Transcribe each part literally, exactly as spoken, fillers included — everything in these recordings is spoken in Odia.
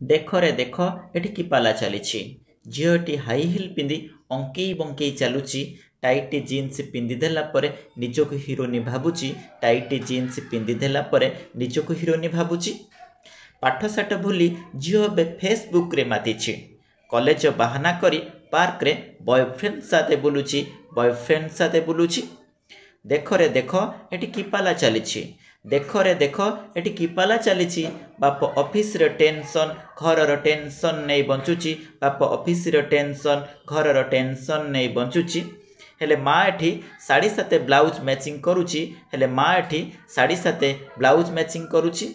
ଦେଖରେ ଦେଖ, ଏଠି କି ପାଲା ଚାଲିଛି। ଝିଅଟି ହାଇ ହିଲ୍ ପିନ୍ଧି ଅଙ୍କେଇ ବଙ୍କେଇ ଚାଲୁଛି। ଟାଇଟ୍ ଜିନ୍ସ ପିନ୍ଧିଦେଲା ପରେ ନିଜକୁ ହିରୋଇନ୍ ଭାବୁଛି। ଟାଇଟ୍ ଜିନ୍ସ ପିନ୍ଧିଦେଲା ପରେ ନିଜକୁ ହିରୋଇନ୍ ଭାବୁଛି। ପାଠଶାଠ ଭୁଲି ଝିଅ ଏବେ ଫେସବୁକ୍ରେ ମାତିଛି। କଲେଜ ବାହାନା କରି ପାର୍କରେ ବୟଫ୍ରେଣ୍ଡ ସାଥେ ବୁଲୁଛି, ବୟଫ୍ରେଣ୍ଡ ସାଥେ ବୁଲୁଛି। ଦେଖରେ ଦେଖ, ଏଠି କି ପାଲା ଚାଲିଛି। ଦେଖରେ ଦେଖ, ଏଠି କି ପାଲା ଚାଲିଛି। ବାପ ଅଫିସର ଟେନସନ୍, ଘରର ଟେନସନ୍ ନେଇ ବଞ୍ଚୁଛି। ବାପ ଅଫିସର ଟେନସନ୍, ଘରର ଟେନସନ୍ ନେଇ ବଞ୍ଚୁଛି। ହେଲେ ମା ଏଠି ଶାଢ଼ୀ ସାଥେ ବ୍ଲାଉଜ୍ ମ୍ୟାଚିଂ କରୁଛି। ହେଲେ ମା ଏଠି ଶାଢ଼ୀ ସାଥେ ବ୍ଲାଉଜ୍ ମ୍ୟାଚିଂ କରୁଛି।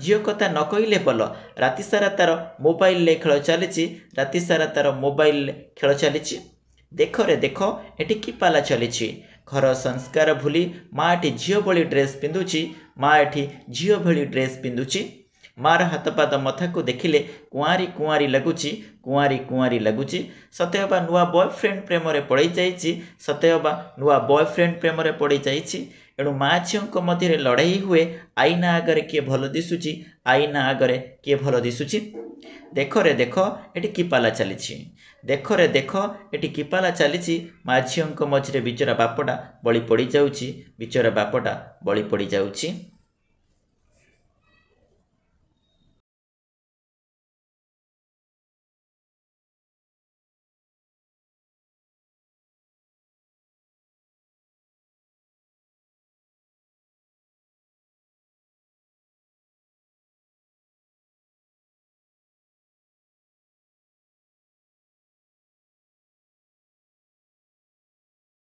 ଝିଅ କଥା ନ କହିଲେ ଭଲ, ରାତି ସାରା ତାର ମୋବାଇଲରେ ଖେଳ ଚାଲିଛି। ରାତି ସାରା ତାର ମୋବାଇଲରେ ଖେଳ ଚାଲିଛି। ଦେଖରେ ଦେଖ, ଏଠି କି ପାଲା ଚାଲିଛି। ଘର ସଂସ୍କାର ଭୁଲି ମା ଏଠି ଝିଅ ଭଳି ଡ୍ରେସ୍ ପିନ୍ଧୁଛି। ମା ଏଠି ଝିଅ ଭଳି ଡ୍ରେସ୍ ପିନ୍ଧୁଛି। ମାର ହାତ ପାଦ ମଥାକୁ ଦେଖିଲେ କୁଆଁରୀ କୁଆଁରୀ ଲାଗୁଛି, କୁଆଁରୀ କୁଆଁରୀ ଲାଗୁଛି। ସତେ ଅବା ନୂଆ ବୟଫ୍ରେଣ୍ଡ ପ୍ରେମରେ ପଡ଼ିଯାଇଛି। ସତେ ଅବା ନୂଆ ବୟଫ୍ରେଣ୍ଡ ପ୍ରେମରେ ପଡ଼ିଯାଇଛି। ଏଣୁ ମା ଝିଅଙ୍କ ମଧ୍ୟରେ ଲଢ଼େଇ ହୁଏ, ଆଇନା ଆଗରେ କିଏ ଭଲ ଦିଶୁଛି, ଆଇନା ଆଗରେ କିଏ ଭଲ ଦିଶୁଛି। ଦେଖରେ ଦେଖ, ଏଠି କି ପାଲା ଚାଲିଛି। ଦେଖରେ ଦେଖ, ଏଠି କି ପାଲା ଚାଲିଛି। ମା ଝିଅଙ୍କ ମଝିରେ ବିଚରା ବାପଟା ବଳି ପଡ଼ିଯାଉଛି, ବିଚରା ବାପଟା ବଳି ପଡ଼ିଯାଉଛି।